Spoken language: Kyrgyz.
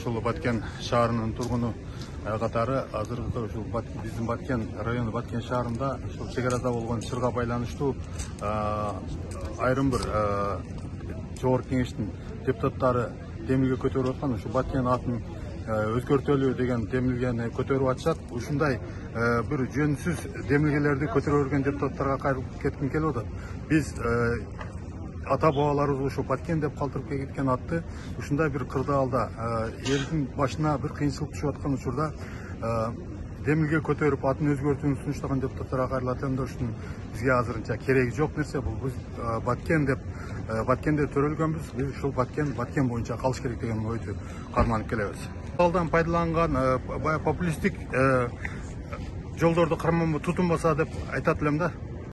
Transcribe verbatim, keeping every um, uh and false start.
ушул Баткен шаарынын тургуну катары азыркы ушул биздин Баткен району Баткен шаарында ушул чек арада болгон чырга байланыштуу айрым бир жогорку кеңештин депутаттары демилге көтөрүп аткан ушу Баткен атын өзгөртөлү деген демилгени көтөрүп атышат. Ушундай бир жөнсүз демилгелерди көтөрө берген депутаттарга кайрылып кетким келип атат. Биз ата бабаларыбыз ушу Баткен деп калтырып кеткен атты ушундай бир кырдаалда элдин башына бир кыйынчылык түшүп аткан учурда демилге көтөрүп атын өзгөртүүнү сунуштаган депутаттарга кайрылат элем да ушунун бизге азырынча кереги жок нерсе. Бул биз Баткен деп Баткенде төрөлгөнбүз. Биз ушул Баткен Баткен боюнча калыш керек деген ойду карманып келебиз. Алдан пайдаланган популисттик жолдорду карманбай тутунбаса деп айтат элем да.